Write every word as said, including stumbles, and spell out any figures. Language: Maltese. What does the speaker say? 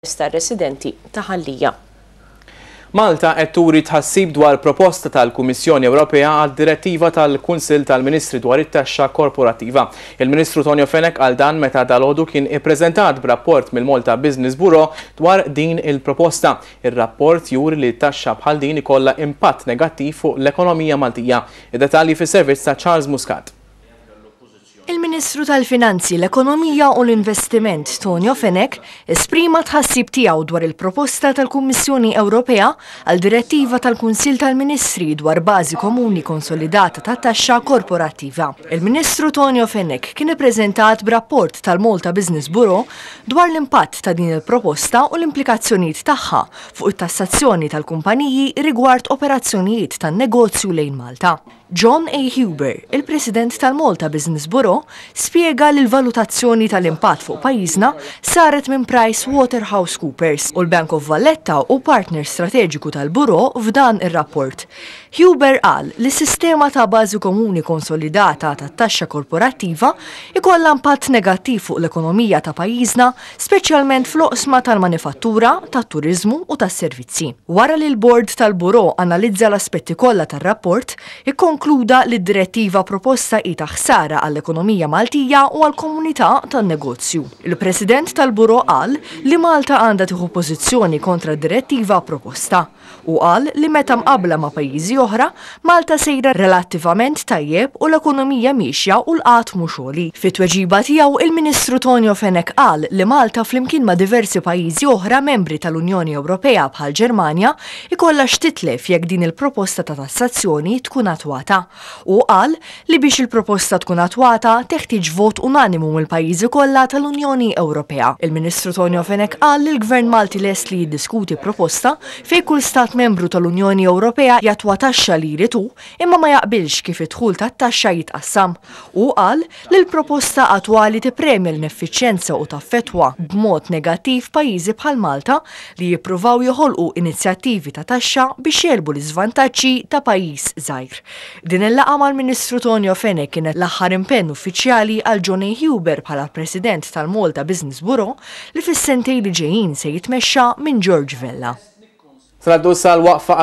Tar-residenti ta' Ħal Lija. Malta qed turi tħassib dwar proposta tal-Kummissjoni Ewropea għal direttiva tal-Kunsill tal-Ministri dwar it-taxxa korporattiva. Il-Ministru Tonio Fenech qal dan meta dalgħodu kien ippreżentat b'rapport mill-Malta Business Bureau dwar din il-proposta. Ir-rapport juri li taxxa bħal din ikollha impatt negattiv fuq l-ekonomija Maltija. Id-detalji fis-servizz ta' Charles Muscat. Il-Ministru tal-Finanzi, l-Ekonomija u l-Investiment Tonio Fenech esprima tħassib tiegħu dwar il-proposta tal-Kummissjoni Ewropea għal direttiva tal-Kunsill tal-Ministri dwar bażi komuni konsolidata ta' taxxa korporattiva. Il-Ministru Tonio Fenech kien ippreżentat b'rapport tal-Malta Business Bureau dwar l-impatt ta' din il-proposta u l-implikazzjonijiet tagħha fuq it-tassazzjoni tal-kumpaniji rigward operazzjonijiet tan-negozju lejn Malta. John A. Huber, il-President tal-Malta Business Bureau, spiega li l-valutazzjoni tal-impatt fuq pajjiżna saret minn Price Waterhouse Coopers u l-Bank of Valletta hu partner strateġiku tal-Bureau f'dan ir-rapport. Huber qal li s-sistema ta' bażi komuni konsolidata ta' taxxa korporattiva ikollha impatt negattiv fuq l-ekonomija ta' pajjiżna, speċjalment fl-oqsma tal-manifattura, tat-turizmu u tas-servizzi. Wara li l-bord tal-Bureau analizza l-aspetti kollha tar-rapport, ikkonkluda li d-direttiva proposta hi ta' ħsara għall-ekonomija Maltija u għall-komunità tan-negozju. Il-President tal-Bureau qal li Malta għandha tieħu pożizzjoni kontra d-direttiva proposta u qal li meta mqabla ma' pajjiżi oħra, Malta sejra relattivament tajjeb u l-ekonomija miexja u l-qgħad mhux għoli. Fit-tweġiba tiegħu, il-Ministru Tonio Fenech qal li Malta, flimkien ma' diversi pajjiżi oħra membri tal-Unjoni Ewropea bħal Ġermanja, ikollha x'titlef jekk din il-proposta ta' tassazzjoni tkun attwata. U qal li biex il-proposta tkun attwata teħtieġ vot unanimu mill-pajjiżi kollha tal-Unjoni Ewropea. Il-Ministru Tonio Fenech qal li l-Gvern Malti lest li jiddiskuti proposta fejn kull stat membru tal-Unjoni Ewropea jattwa taxxa li jrid hu, imma ma jaqbilx kif id-dħul tat-taxxa jitqassam. U qal li l-proposta attwali tippremja l-ineffiċjenza u taffetwa b'mod negattiv pajjiżi bħal Malta li jippruvaw joħolqu inizjattivi ta' taxxa biex jegħlbu l-iżvantaġġi ta' pajjiż żgħir. Din il-laqgħa mal-Ministru Tonio Fenech kienet l-aħħar impenn uffiċjali għal John A. Huber bħala President tal-Malta Business Bureau, li fis-sentejn li ġejjin se jitmexxa minn George Vella. Traddu sal-waqfa.